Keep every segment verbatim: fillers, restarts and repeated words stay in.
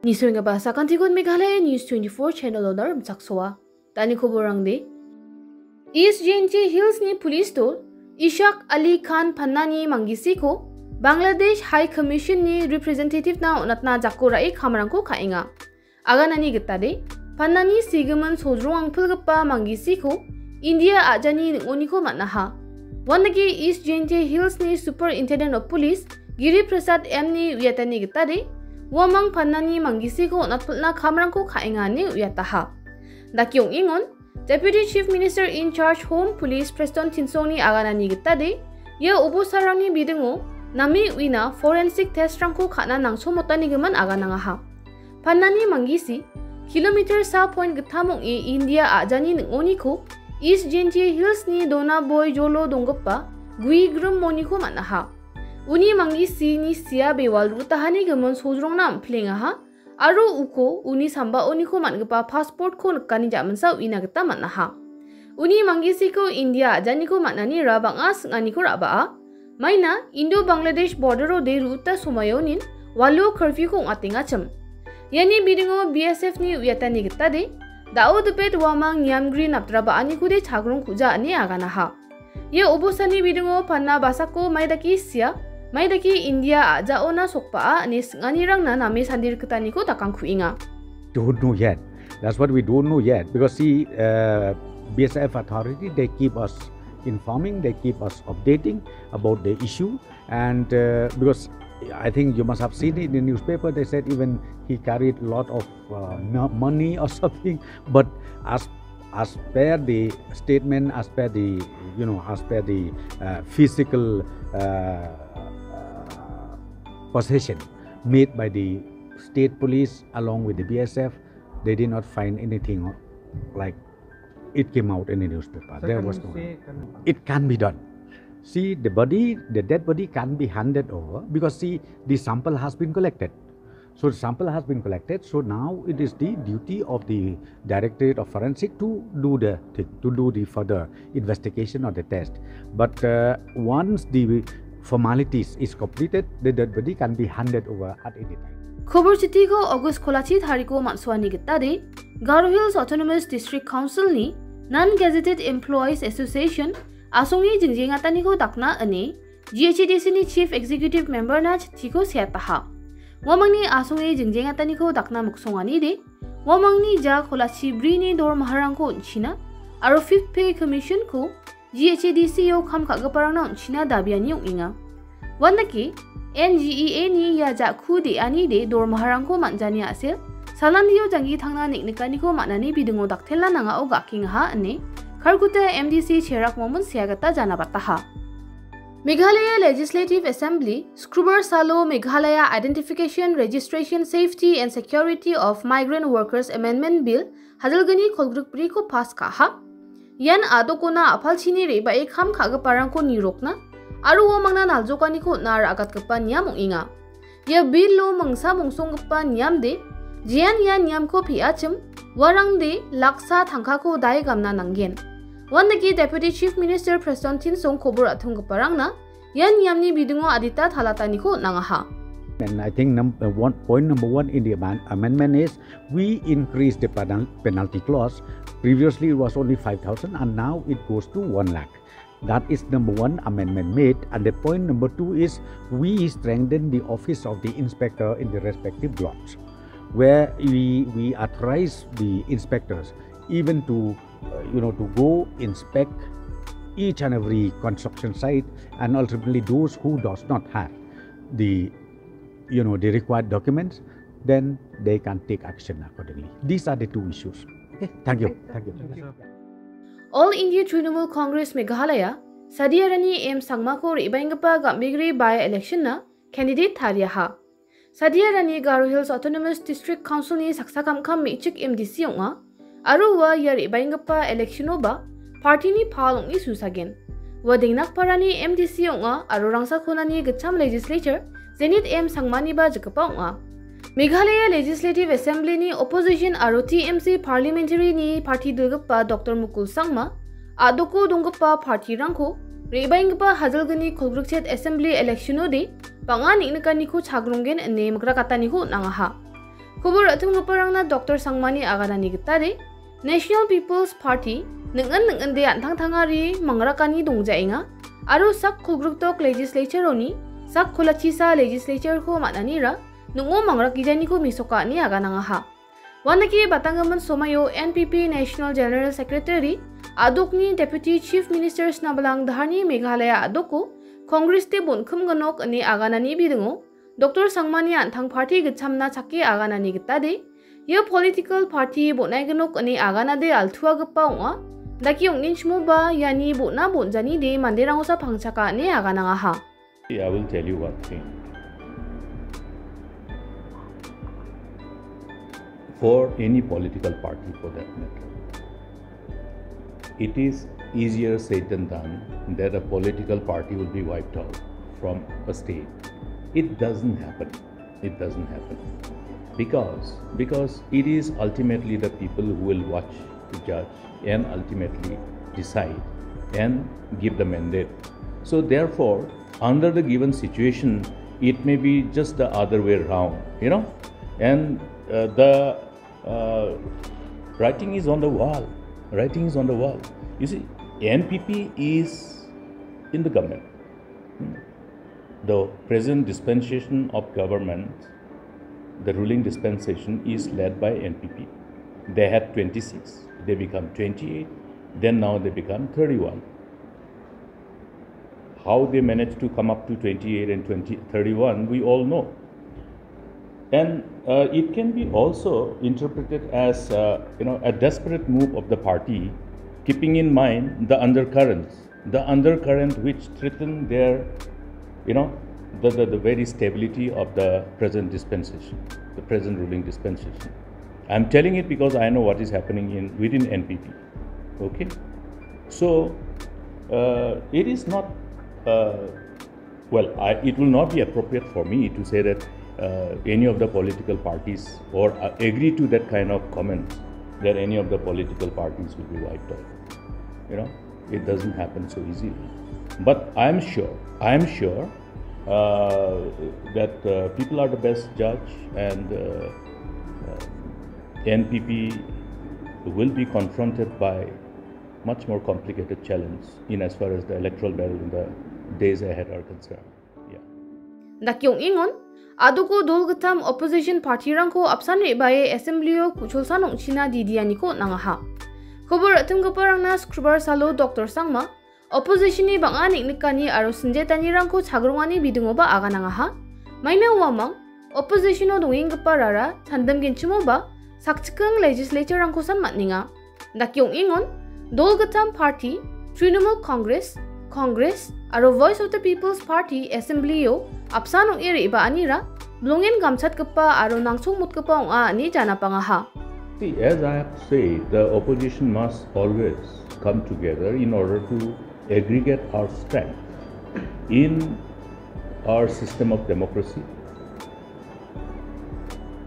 Nisoenggipa sakantikon Meghalaya News twenty-four channel-ona rimchaksoa. Dani koborangde. East Jaintia Hills-ni police-o Ishak Ali Khan Pannani Manggisiko Bangladesh High Commission-ni representative-na on·atna jako ra·e kamrangko ka·enga. Aganani gitade, Pannani sigimin sodrong angpilgipa Manggisiko India a·jani ning·oniko man·aha. Uandake East Jaintia Hills-ni Superintendent of Police Giri Prasad M-ni uiatani gitade, uamang Pannani Manggisiko on·atpilna kamrangko ka·enga ine uiataha. Dake ong·engon, Deputy Chief Minister in charge Home Police Prestone Tynsongni aganani gitade, ia obosarangni bidingo name uina forensic test-rangko ka·na nangchomotanigimin aganangaha. Pannani Manggisi, kilometer sa point gittam ong·e India a·jani ning·oniko East Jaintia Hills-ni Donaboi Jolo donggipa Guigrim moniko man·aha. Uni Manggisini sia bewal ru·tahani gimin sodrongna am·plengaha. Aro uko uni sambaoniko man·gipa passport-ko nikani jaminsa uina gita man·aha. Uni Manggisiko India a·janiko man·anira bang·a sing·aniko ra·baa. Maina Indo-Bangladesh border-ode ru·uta somaionin walo curfew-ko ong·atengachim. Iani bidingo B S F-ni uiatani gitade, da·o dipet uamang niamgri napdraba·anikode chagrong ku·ja ine aganaha. Ia obostani bidingo Panna basako maidake sia, maidake India a·jaona sokbaa ine sing·anirangna name sandirikgitaniko dakangkuenga. Don't know yet. That's what we don't know yet, because see, uh, B S F authority, they keep us informing, they keep us updating about the issue, and, uh, because I think you must have seen it in the newspaper, they said even he carried a lot of, uh, mo-, money or something, but as as per the statement, as per the, you know, as per the, uh, physical, uh, possession made by the state police along with the B S F, they did not find anything like it came out in the newspaper. There was no. It can be done. See, the body, the dead body can be handed over because, see, the sample has been collected. So the sample has been collected. So now it is the duty of the Directorate of Forensic to do the thing, to do the further investigation or the test. But, uh, once the formalities is completed, the dead body can be handed over at any time. Khobor chitiko August kolachi tariko man·suani gitade, Garo Hills Autonomous District Council-ni Non-Gazetted Employees Association asonge jingjengataniko dakna ine G H A D C-ni Chief Executive Member-na chittiko seataha. Uamangni asonge jingjengataniko dakna miksonganide, uamangni ja kolachi brini dormaharangko on·china aro Fifth Pay Commission-ko G H A D C-o kam ka·giparangna on·china dabiani ong·enga. Uandake, N G E A-ni ia ja·ku de·anide dormaharangko man·jani a·sel, salanio janggi tangna neng·nikaniko man·ani bidingo daktelna nangao ga·kengaha ine Kharkutta M D C Cherak Momin sea gita janabataha. Meghalaya Legislative Assembly, Skrubar salo Meghalaya Identification, Registration, Safety and Security of Migrant Workers Amendment Bill, hajilgni kolgrikbriko pass ka·aha. Ian a·dokona a·palchini re·bae kam ka·giparangko nirokna aro uamangna naljokaniko on·na ra·gatgipa niam ong·enga. Ia bilo mingsa mongsonggipa niamde, jean ia niamko pe·achim, uarangde laksa tangkako dae gamna nanggen. Uandake Deputy Chief Minister Prestone Tynsong kobor a·tonggiparangna ia niamni bidingo adita talataniko on·angaha. And I think num-, uh, one, point number one in the amen-, amendment is we increase the penal-, penalty clause. Previously it was only five thousand and now it goes to one lakh. That is number one amendment made. And the point number two is we strengthen the office of the inspector in the respective blocks, where we, we authorize the inspectors even to, uh, you know, to go inspect each and every construction site, and ultimately those who does not have the, you know, the required documents, then they can take action accordingly. These are the two issues. Okay, thank you. Thank you. All India Trinamool Congress Meghalaya, Sadiarani M Sangmako re·baenggipa gambegre by-election-na candidate tariaha. Sadiarani Garo Hills Autonomous District Council-ni saksa kamkam me·chik M D C ong·a, aro ua ia re·baenggipa election-oba party-ni pal ong·e susagen. Ua Dengnakparani M D C ong·a aro Rangsakonani gitcham legislature Zenith M Sangmaniba jikgipa ong·a. Meghalaya Legislative Assembly-ni opposition aro T M C parliamentary-ni party dilgipa Doctor Mukul Sangma, a·doko donggipa party-rangko re·baenggipa hajilgni kolgrikchet assembly election-ode bang·a neng·nikaniko chagronggen ine mikrakataniko on·angaha. Kobo ra·timgiparangna Doktor Sangmani aganani gitade, National People's Party ning·an ning·inde an·tangtangari mangrakani dongjaenga aro sak kolgrikdok legislature-oni sak kolachisa legislature-ko man·anira ning·o mangrakgijaniko mesoka ine aganangaha. Uandake batanggimin somaio N P P National General Secretary a·dokni Deputy Chief Minister snabalang daharni Meghalaya a·doko Congress-de bon·kimginok ine aganani bidingo Doktor Sangmani an·tang party gitchamna chake aganani gitade, ia political party bon·aiginok ine aganade altuagipa ong·a. Dake ong·enchimoba iani bon·a bon·janide manderangosa pangchaka ine aganangaha. I will tell you one thing. For any political party, for that matter, it is easier said than done that a political party will be wiped out from a state. It doesn't happen. It doesn't happen. Because, because it is ultimately the people who will watch, to judge, and ultimately decide and give the mandate. So therefore, under the given situation, it may be just the other way around, you know, and, uh, the, uh, writing is on the wall. Writing is on the wall. You see, N P P is in the government. Hmm. The present dispensation of government, the ruling dispensation, is led by N P P. They had twenty-six, they become twenty-eight, then now they become thirty-one. How they managed to come up to twenty-eight and twenty, thirty-one, we all know. And, uh, it can be also interpreted as, uh, you know, a desperate move of the party, keeping in mind the undercurrents, the undercurrent which threaten their, you know, the, the, the very stability of the present dispensation, the present ruling dispensation. I'm telling it because I know what is happening in, within N P P. Okay? So, uh, it is not, uh, well, I, it will not be appropriate for me to say that, uh, any of the political parties or, uh, agree to that kind of comment that any of the political parties will be wiped out. You know, it doesn't happen so easily. But I'm sure, I'm sure, uh, that, uh, people are the best judge, and, uh, uh, N P P will be confronted by much more complicated challenge in as far as the electoral battle in the days ahead are concerned. Yeah. Dake ong·engon, a·doko dol gittam opposition party-rangko apsan re·bae assembly-o ku·cholsan ong·china didianiko on·angaha. Kobo ra·timgiparangna Skrubar salo Doktor Sangma, opposition-ni bang·a neng·nikani aro sinjetanirangko chagrongani bidingoba aganangaha. Maina uamang, opposition-o dongenggiparara tandimgenchimoba sakchikking legislature-rangkosan man·enga. Dake ong·engon, dol gittam party, Trinamool Congress, Congress, aro Voice of the People's Party assembly-o apsan ong·e re·baanira bilongen gamchatgipa aro nangchongmotgipa ong·a ine janapangaha. See, as I have said, the opposition must always come together in order to aggregate our strength in our system of democracy.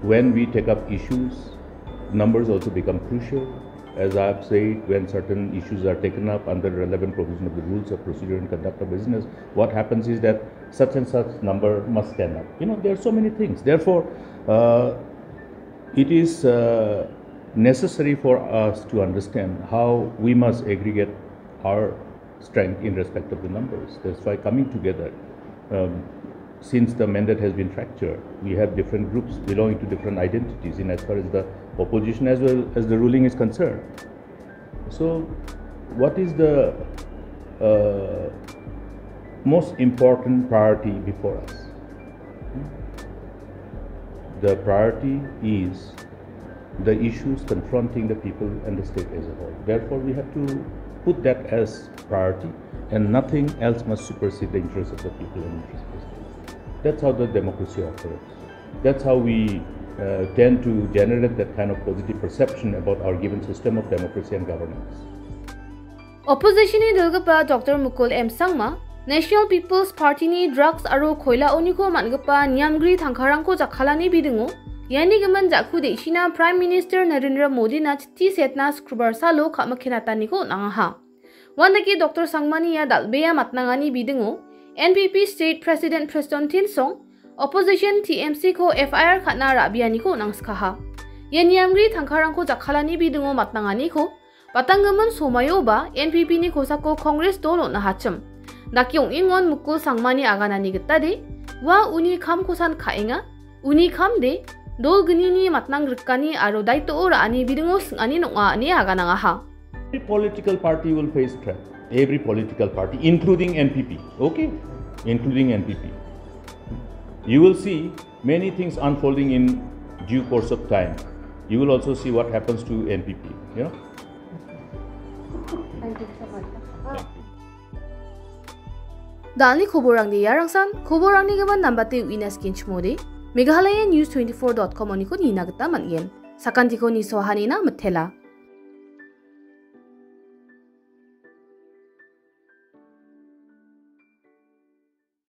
When we take up issues, numbers also become crucial. As I have said, when certain issues are taken up under relevant provision of the rules of procedure and conduct of business, what happens is that such and such number must stand up. You know, there are so many things. Therefore, uh, it is, uh, necessary for us to understand how we must aggregate our strength in respect of the numbers. That's why coming together, um, since the mandate has been fractured, we have different groups belonging to different identities in as far as the opposition as well as the ruling is concerned. So, what is the, uh, most important priority before us? The priority is the issues confronting the people and the state as a whole. Therefore, we have to put that as priority, and nothing else must supersede the interests of the people and interests of the state. That's how the democracy operates. That's how we, uh, tend to generate that kind of positive perception about our given system of democracy and governance. Opposition-ni dilgipa Doktor Mukul M Sangma, National People's Party-ni drugs aro koilaoniko man·gipa niamgri tangkarangko jakkalani bidingo, iani gimin ja·ku de·sina Prime Minister Narendra Modina chitti setna Skrubar salo ka·mikkenataniko on·angaha. Uandake Doktor Sangmani ia dal·bea matnangani bidingo, N P P State President Prestone Tynsong, Opposition T M C-ko F I R ka·na ra·bianiko on·angskaha. Ia niamgri tangkarangko jakkalani bidingo matnanganiko batanggimin somaioba N P P-ni kosako Congress dol on·ahachim. Dake ong·engon Mukul Sangmani aganani gitade, ua uni kamkosan ka·enga, uni kamde, dol gnini matnang rikani aro daitoo ra·ani bidingo sing·ani ong·a ine aganangaha. Every political party will face threat. Every political party, including N P P. Okay? Including N P P. You will see many things unfolding in due course of time. You will also see what happens to N P P. You know? Thank you so much. Dalni koborangde iarangsan, koborangni gimin nambate uina skenchimode, Meghalaya News twenty-four dot com oniko nina gita man·gen. Sakantiko nisoahanina mitela.